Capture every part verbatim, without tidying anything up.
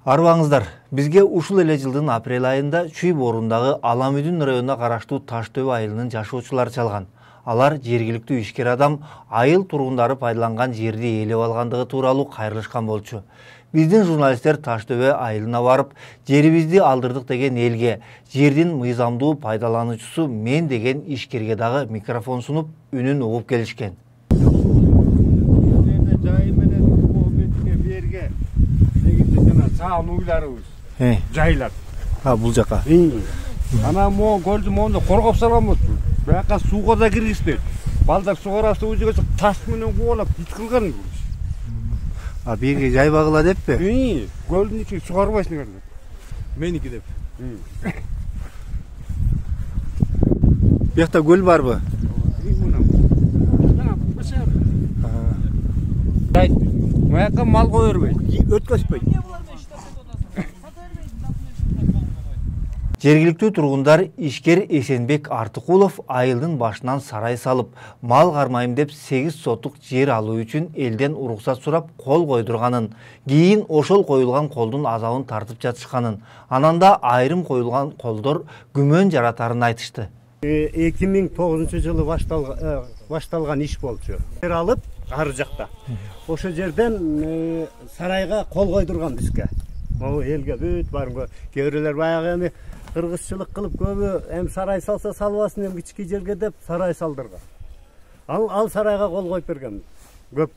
Арбаңыздар, бизге ушул эле жылдын апрель айында Чүй Борундагы Аламүдүн районуна караштуу Таштөбө айылынын жашоочулары чалган. Алар жергиликтүү ишкер адам айыл тургундары пайдаланган жерди ээлеп алгандыгы тууралуу кайрылышкан болчу. Биздин журналисттер Таштөбө айылына барып, жерибизди алдырдык деген элге, жердин мыйзамдуу пайдалануучусу мен деген ишкерге дагы микрофон сунуп, үнүн угуп келишкен. Саан уйларыбыз жайлап. А, бул жака. Ана мо көлдү мону коргоп салганбыз. Бияка сууга да киргизбейт. Балдар сугарасы өзүгө таш менен кубалап бит кылган. А биги жай багыла деппи? Ии, көлдүн ичи сугарбайсың эле. Меники деп. Биякта көл барбы? Маяка мал кое бербейт, өткөзбөйт. Жергиликтүү тургундар ишкер Эсенбек Артыкулов айылдын башынан сарай салып, мал кармайм деп сегиз сотук жер алуу үчүн элден уруксат сурап кол койдурганын, кийин ошол коюлган колдун азабын тартып жатышканын, анан да айрым коюлган колдор күмөн жаратарын айтышты. эки миң тогузунчу жылы башталган иш болчу. Жер алып, ары жакта. Ошол жерден сарайга кол койдурган бизге. Могу элге бүт барымга кээ бирлер баягы эми кыргызчылык кылып көбү эми сарай салса салбасын эми кички жерге деп сарай салдырган. Ал ал сарайга кол коюп берген көп.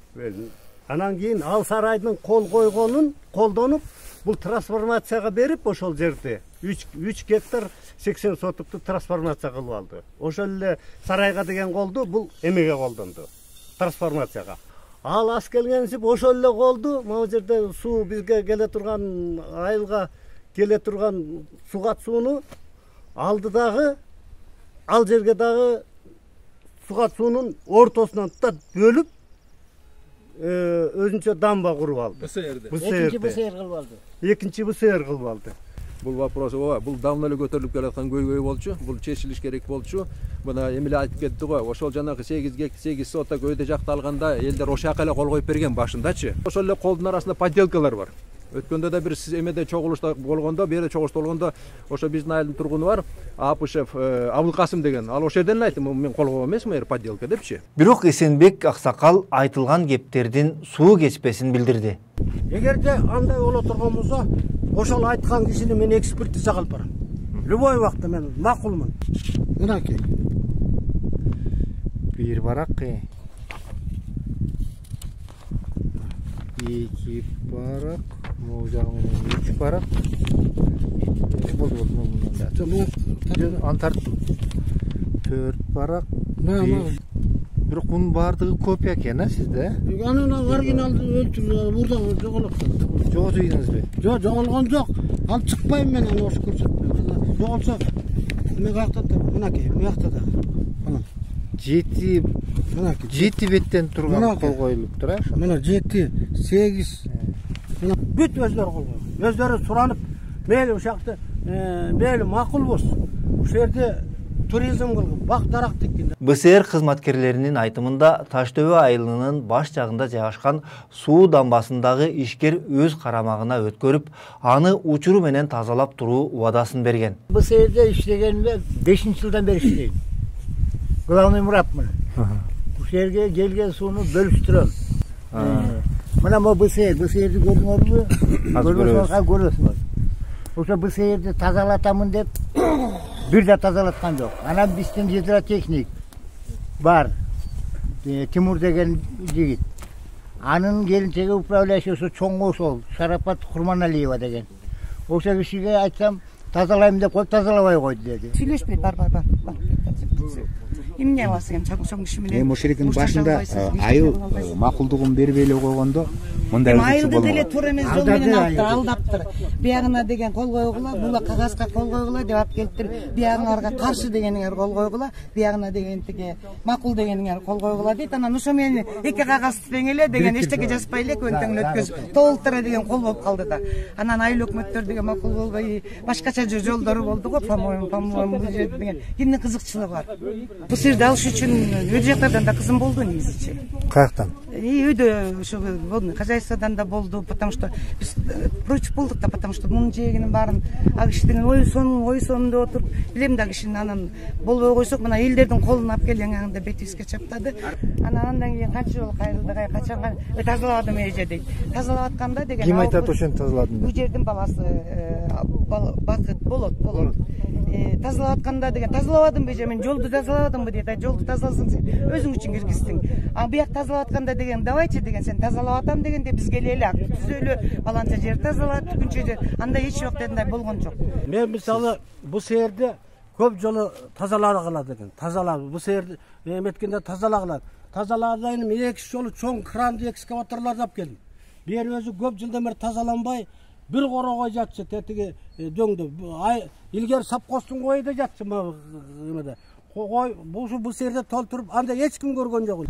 Анан кийин ал сарайдын кол койгонун колдонуп, бул трансформацияга берип ошол жерди үч гектар сексен сотукту трансформация кылып алды. Ошол эле сарайга деген колду бул эмеге колдонду. Трансформацияга. Ал ас келгенсип ошол эле колду могу жерде суу бизге келе турган айылга келе турган сугат сууну алды дагы ал жерге дагы сугат суунун ортосунан тутат бөлүп өзүнчө дамба куруп алды. Экинчи БСР кылып алды. Экинчи БСР кылып алды. Бул вопрос ооба, бул давно эле көтөрүлүп келаткан көйгөй болчу. Бул чечилиш керек болчу. Мына эмиле айтып кетти го, ошол жанагы сегиз соток өйдө жакталганда элдер ошол жака эле кол коюп берген башындачы. Ошол эле колдун арасында подделкалар бар. Өткөндө да бир сиз эмеде чогулушта болгондо, бери чогулушта болгондо, ошо биздин айылдын тургуну бар, Апышев Абылкасым деген. Ал ошол жерден айтты, мен кол койгон эмесмин, эр подделка депчи. Бирок Эсенбек аксакал айтылган кептердин суу кечпесин билдирди. Эгерде андай боло турган болсо, ошол айткан кишини мен экспертизага алып барам. Любой убакта мен макулмун. Мынакей. Бир барак, эки барак, могу жагы менен үч барак. Болду болду мындан. Аны тарттым. төрт барак. Бирок мунун баардыгы копия экен, а сизде? Анын оригиналды өлтүрүп, мурда жоголуп. Жоготуйдуңузбу? Жок, жоголгон жок. Алып чыкпайм мен аны ошо көрсөтмөм. Жоголсо мен каяктан табам? Мынакей, буякта да. Мына. жети, мынакей. жети беттен турган кол коюлуптур, а? Мына жети, сегиз. Мына бүт өздөрү кол койгон. Өздөрү суранып, мейли ушакты, мейли макулбуз. Ушул жерде туризм кылып, бак дарак тиккен. БСР кызматкерлеринин айтымында Таштөбө айылынын баш жагында жайгашкан суу дамбасындагы ишкер өз карамагына өткөрүп, аны учуру менен тазалап туруу убадасын берген. БСРде иштегениме бешинчи жылдан бери иштейм. Главный мурапмын. Ушул жерге келген сууну бөлүштүрөм. Мына мо БСР, БСРди көрдүңөрбү? Көрбөсөңөр көрөсүңөр. Ошо БСРди тазалатамын деп бир да тазалаткан жок. Анан биздин гидротехник бар. Тимур деген жигит. Анын келинчеги управляющий ошо чоң ошол Шарапат Курманалиева деген. Ошо кишиге айтсам, тазалайм деп коюп, тазалабай койду деди. Сүйлөшпөйт, бар бар бар. Эмне аласың эми чоң киши менен? Эми ошол жердин башында айыл макулдугун бербей эле койгондо мындай айыл деле туура эмес жол менен алыптыр, алдаптыр. Биягына деген кол койгула, була кагазга кол койгула деп алып келиптир. Биягыңарга каршы дегениңер кол койгула, биягына деген тиги макул дегениңер кол койгула дейт. Анан ошо менен эки кагаз тең эле деген эчтеке жазбай эле көнтөңүн өткөзүп толуктура деген кол болуп калды да. Анан айыл өкмөттөр деген макул болбой, башкача жолдору болду го, по-моему, по-моему деген. Кимдин кызыкчылыгы бар? Бу жерди алыш үчүн өз жактардан да кызым болду негизичи. Каяктан? и үйдө ошо хозяйстводан да болду, потому что биз против болдук да, потому что мунун жээгинин баарын ал киши деген ой сонун ой сонун деп отуруп, билем да кишинин анан болбой койсок мына элдердин колун алып келген аңында бетибизге чаптады. Анан андан кийин канча жолу кайрылды, качан тазаладым эже дейт. Тазалап атканда деген ким айтат ошентип тазаладым деп? Бул жердин баласы Бакыт болот, болот. Тазалап атканда деген тазалабадым эже, мен жолду тазалабадымбы дейт. Жолду тазаласаң сен өзүң үчүн киргиздиң. А бияк тазалап атканда деген давайте деген сен тазалап атам дегенде биз келели ак түзөлү, баланча жер тазалап, түкүнчө жер. Анда эч убакта андай болгон жок. Мен мисалы бул жерде көп жолу тазалагыла деген. Тазалап бул жерде эметкенде тазалагыла. Тазалаган эки жолу чоң кранды экскаваторларды алып келдим. Бу жер өзү көп жылдан бери тазаланбай, бир корогой жатчы тетиги дөңдө. Ай илгери сапкостун койу да жатчы эмеде. Кой бул бул жерде толтуруп, анда эч ким көргөн жок.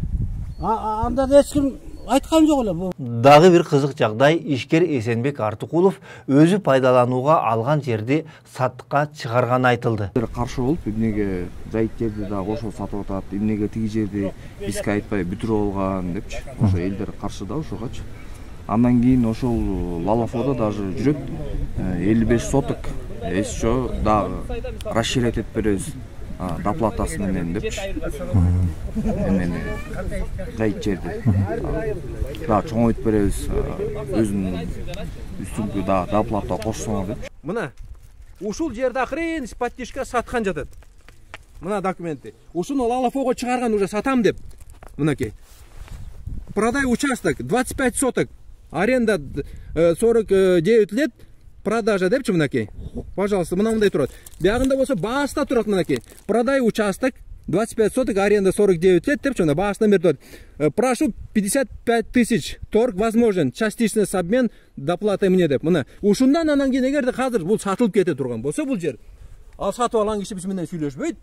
Анда эч ким айткан жок эле. Дагы бир кызык жагдай, ишкер Эсенбек Артыкулов өзү пайдаланууга алган жерди саттыкка чыгарганы айтылды. Каршы болуп, эмнеге жайыт жерди да кошо сатып атат, эмнеге тиги жерди бизге айтпай бүтүрүп алган депчи. Ошо элдер каршы да ошогочу. Андан кийин ошол Лалафоодо даже жүрөт элүү беш соток еще дагы расширять этип беребиз доплатасы менен депчи. Эмени жайыт жерди дагы чоңойтуп беребиз, өзүнүн үстүнкү дагы доплата кошсоңор депчи. Мына ушул жерде акырын подтишка саткан жатат. Мына документи. Ушуну Лалафоого чыгарган уже сатам деп. Мынакей. Продай участок двадцать пять соток. Аренда сорок девять лет. Продажа депчи мынакей. Пожалуйста, мына мындай турат. Биягында болсо бааста турат мынакей. Продай участок двадцать пять соток, аренда сорок девять лет депчи мына баасынан берип турат. Прошу пятьдесят пять тысяч. Торг возможен. Частичный обмен доплатой мне деп. Мына ушундан анан кийин эгерде азыр бул сатылып кете турган болсо бул жер, ал сатып алган киши биз менен сүйлөшпөйт.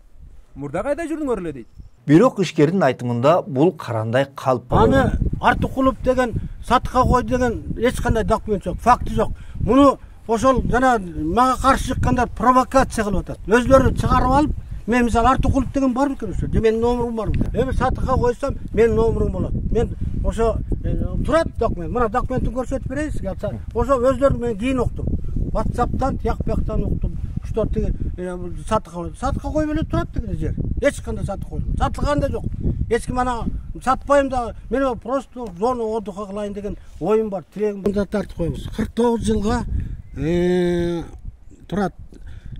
Мурда кайда жүрдүңөр эле дейт. Бирок ишкердин айтымында бул карандай калп. Аны Артыкулов деген сатыкка койду деген эч кандай документ жок, факты жок. Муну ошол жана мага каршы чыккандар провокация кылып атат. Өзлөрү чыгарып алып, мен мисалы Артыкулов деген бар бекен ошо. Менин номерим бар. Эми сатыкка койсом, менин номерим болот. Мен ошо турат документ. Мына документин көрсөтүп берейин сизге. Ошо өзлөрү мен кийин уктум. WhatsApp'тан, тияк бияктан уктум. Что тиги сатыкка сатыкка койуп эле турат деген жер. Эч кандай сатып койдум. Сатылган да жок. Эч ким ана сатпайм да, мен просто зона отдыха кылайын деген оюм бар, тирегим. Мында тартып коебуз. кырк тогуз жылга турат.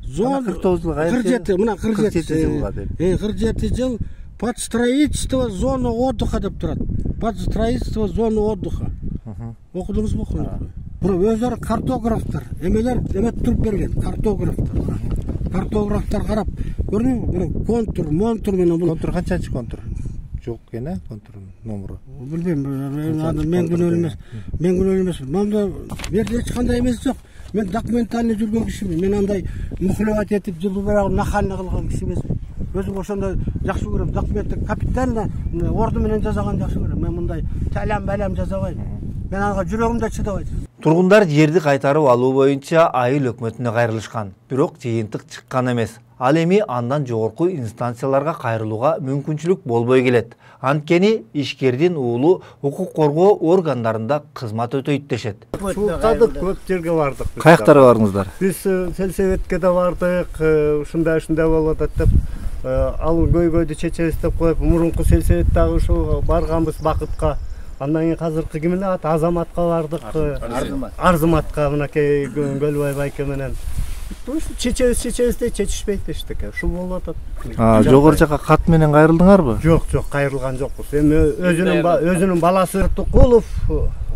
Зона кырк тогуз жылга кырк жети, мына кырк жети жылга деп. Э, кырк жети жыл под строительство зоны отдыха деп турат. Под строительство зоны отдыха. Окудуңузбу? Бирок өзлөрү картографтар, эмелер эмет туруп берген, картографтар. Картографтар карап, көрдүңүзбү? Мына контур, монтур менен бул. Контур канчанчы контур? Жок экен, э, контурдун номеру. Билбейм, мен күнөө эмес. Мен күнөө эмес. Мында бир эч кандай эмес жок. Мен документальный жүргөн кишимин. Мен андай мухлевать этип жылуу берагын нахально кылган киши эмесмин. Өзүм ошондой жакшы көрөм. Документти капитально орду менен жасаган жакшы көрөм. Мен мындай талам балам жасабайм. Мен ага жүрөгүмдө чыдабайт. Тургундар жерди кайтарып алуу боюнча айыл өкмөтүнө кайрылышкан. Бирок жыйынтык чыккан эмес. Ал эми андан жогорку инстанцияларга кайрылууга мүмкүнчүлүк болбой келет. Анткени ишкердин уулу укук коргоо органдарында кызмат өтөйт дешет. Султадык, көп жерге бардык. Каяктарга бардыңыздар? Биз сельсоветке да бардык, ушундай ушундай болуп атат деп, ал көйгөйдү чечебиз деп коюп, мурунку сельсоветтагы ушул барганбыз Бакытка. Андан кийин азыркы кимине ат Азаматка бардык. Арзыматка мынакей Көлбай байке менен. Чечебиз чечебиз деп чечишпейт дештик. Ушул болуп атат. А, жогору жака кат менен кайрылдыңарбы? Жок, жок, кайрылган жокпуз. Эми өзүнүн өзүнүн баласы Артыкулов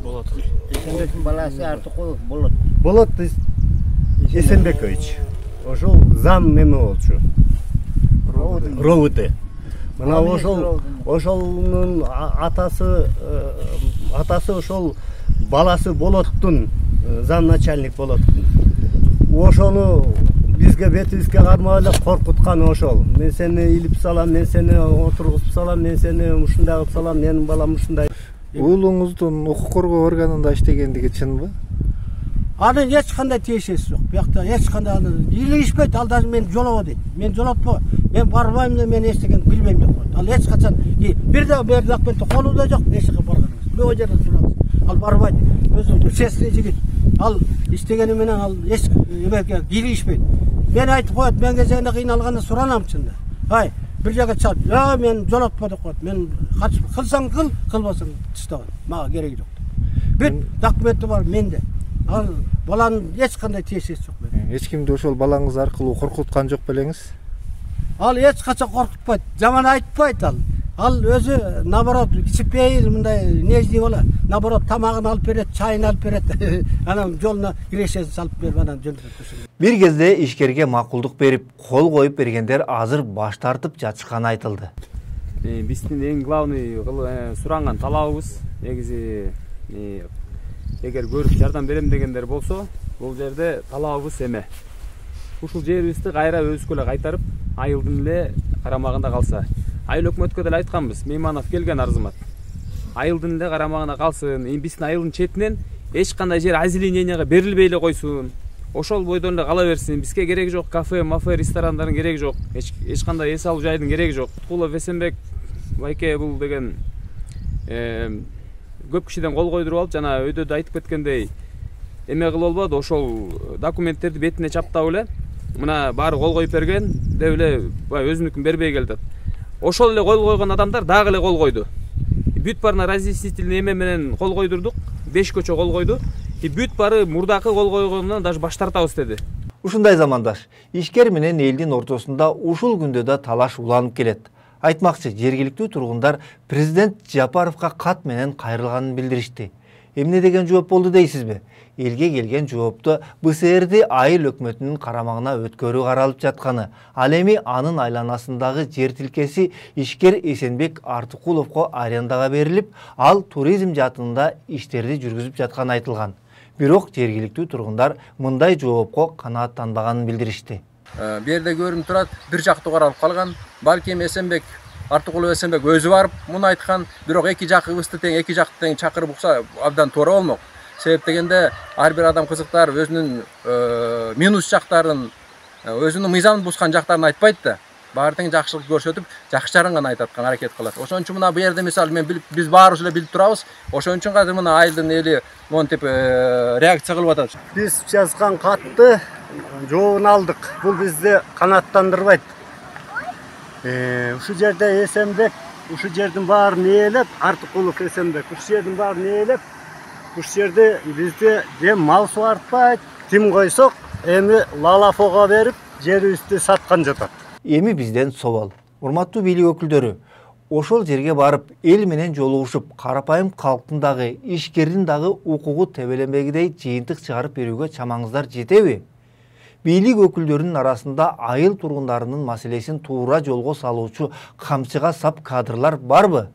болот. Эсенбектин баласы Артыкулов болот. Болот Эсенбекович. Ошол зам эме болчу. Ровд. Мына ошол ошолдун атасы атасы ошол баласы Болоттун зам начальник Болоттун. Ошону бизге бетибизге кармап эле коркуткан ошол. Мен сени илип салам, мен сени отургузуп салам, мен сени ушундай кылып салам, менин балам ушундай. Уулуңуздун укук коргоо органында иштегендиги чынбы? Анын эч кандай тиешеси жок. Биякта эч кандай илигишпейт, ал даже мен жолобо дейт. Мен жолотпо. Мен барбайм эле, мен эч деген билбейм деп коет. Ал эч качан бир да бир документти колунда жок, эч жака барган. любой жерден сураңыз. Ал барбайт. Өзү честный жигит. Ал иштегени менен ал эч эмеге кийлигишпейт. Мен айтып коет, мен кезегинде кыйналганда суранам чында. Ай, бир жака чат. Я мен жолотпа деп коет. Мен кылсаң кыл, кылбасаң тыштаган. Мага кереги жок. Бүт документи бар менде. Ал баланын эч кандай тиешеси жок менде. Эч кимди ошол балаңыз аркылуу коркуткан жок белеңиз? Ал эч качан коркутпайт, жаман айтпайт ал. Ал өзү наоборот кичипейил мындай нежный бола. Наоборот тамагын алып берет, чайын алып берет. Анан жолуна кирешесин салып берип анан жөнөтөт. Бир кезде ишкерге макулдук берип, кол коюп бергендер азыр баш тартып жатышканы айтылды. Биздин эң главный суранган талабыбыз негизи эгер көрүп жардам берем дегендер болсо, бул жерде талабыбыз эме. Ушул жерибизди кайра өзүбүзгө эле кайтарып, айылдын эле карамагында калса. Айыл өкмөткө деле айтканбыз, Мейманов келген арзымат. Айылдын эле карамагында калсын, биздин айылдын четинен эч кандай жер озелененияга берилбей эле койсун. Ошол бойдон эле кала берсин. Бизге кереги жок кафе, мафе, ресторандардын кереги жок. Эч кандай эс алуу жайдын кереги жок. Туткулов Эсенбек байке бул деген көп кишиден кол койдуруп алып, жана өйдө да айтып кеткендей, эме кылып болбоду, ошол документтерди бетине чаптап эле, мына баары кол коюп берген деп эле өзүнүкүн бербей келди. Ошол эле кол койгон адамдар дагы эле кол койду. Бүт барына разъяснительный эме менен кол койдурдук, беш көчө кол койду. И бүт бары мурдакы кол койгондон даже баш тартабыз деди. Ушундай замандаш, ишкер менен элдин ортосунда ушул күндө да талаш уланып келет. Айтмакчы, жергиликтүү тургундар президент Жапаровго кат менен кайрылганын билдиришти. Эмне деген жооп болду дейсизби? Элге келген жоопту БСРди айыл өкмөтүнүн карамагына өткөрүү каралып жатканы, ал эми анын айланасындагы жер тилкеси ишкер Эсенбек Артыкуловго арендага берилип, ал туризм жаатында иштерди жүргүзүп жатканы айтылган. Бирок жергиликтүү тургундар мындай жоопко канааттанбаганын билдиришти. Бу жерде көрүнүп турат, бир жактуу каралып калган. Балким Эсенбек Артыкулов Эсенбек өзү барып муну айткан, бирок эки жакыбызды тең, эки жакты тең чакырып укса абдан туура болмок. Себеп дегенде ар бир адам кызыктар өзүнүн минус жактарын, өзүнүн мыйзамын бузган жактарын айтпайт да. Баары тең жакшылык көрсөтүп, жакшы жарын гана айткан аракет кылат. Ошон үчүн мына бу жерде мисалы мен биз баарыбыз эле билип турабыз. Ошон үчүн азыр мына айылдын эли монтип реакция кылып атат. Биз жазган катты жообун алдык. Бул бизди канааттандырбайт. Ушул жерде Эсенбек, ушул жердин баарын ээлеп, Артыкулов Эсенбек, ушул жердин баарын ээлеп, ушул жерде бизди дем мал суартпайт, тим койсок, эми лалафого берип, жерибизди саткан жатат. Эми бизден собол. Урматтуу бийлик өкүлдөрү, ошол жерге барып, эл менен жолугушуп, карапайым калктын дагы, ишкердин дагы укугу тебеленбегидей жыйынтык чыгарып берүүгө чамаңыздар жетеби? Бийлик өкүлдөрүнүн арасында айыл тургундарынын маселесин туура жолго салуучу камчыга сап кадрлар барбы?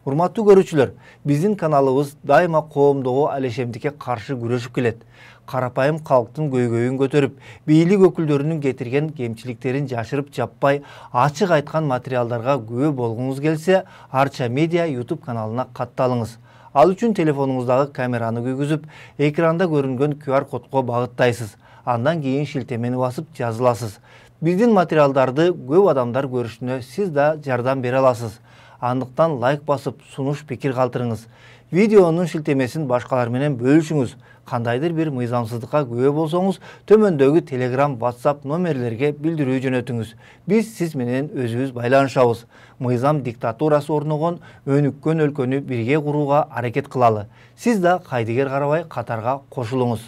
Урматтуу көрүүчүлөр, биздин каналыбыз дайыма коомдогу алешемдикке каршы күрөшүп келет. Карапайым калктын көйгөйүн көтөрүп, бийлик өкүлдөрүнүн кетирген кемчиликтерин жашырып жаппай, ачык айткан материалдарга күбө болгуңуз келсе, Арча Медиа YouTube каналына катталыңыз. Ал үчүн телефонуңуздагы камераны күйгүзүп, экранда көрүнгөн ку ар кодго багыттайсыз. Андан кийин шилтемени басып жазыласыз. Биздин материалдарды көп адамдар көрүшүнө сиз да жардам бере аласыз. Андыктан лайк басып, сунуш пикир калтырыңыз. Видеонун шилтемесин башкалар менен бөлүшүңүз. Кандайдыр бир мыйзамсыздыкка күбө болсоңуз, төмөндөгү Telegram, WhatsApp номерлерге билдирүү жөнөтүңүз. Биз сиз менен өзүбүз байланышабыз. Мыйзам диктатурасы орногон өнүккөн өлкөнү бирге курууга аракет кылалы. Сиз да кайдыгер карабай катарга кошулуңуз.